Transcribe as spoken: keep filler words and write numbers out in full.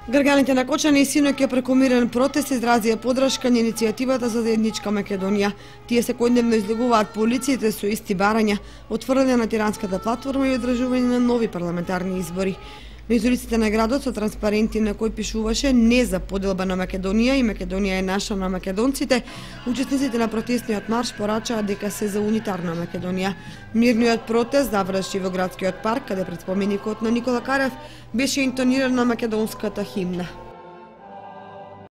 Грганите на Кочани и синоќ преку мирен протест изразија поддршка на иницијативата за заедничка Македонија. Тие секојдневно излегуваат по улиците со исти барања, отврляње на тиранската платформа и одржување на нови парламентарни избори. Низ улиците на градот со транспаренти на кои пишуваше "Не за поделба на Македонија" и "Македонија е наша на македонците", учесниците на протестниот марш порачаа дека се за унитарна Македонија. Мирниот протест заврши во градскиот парк, каде пред споменикот на Никола Карев беше интонирана македонската химна.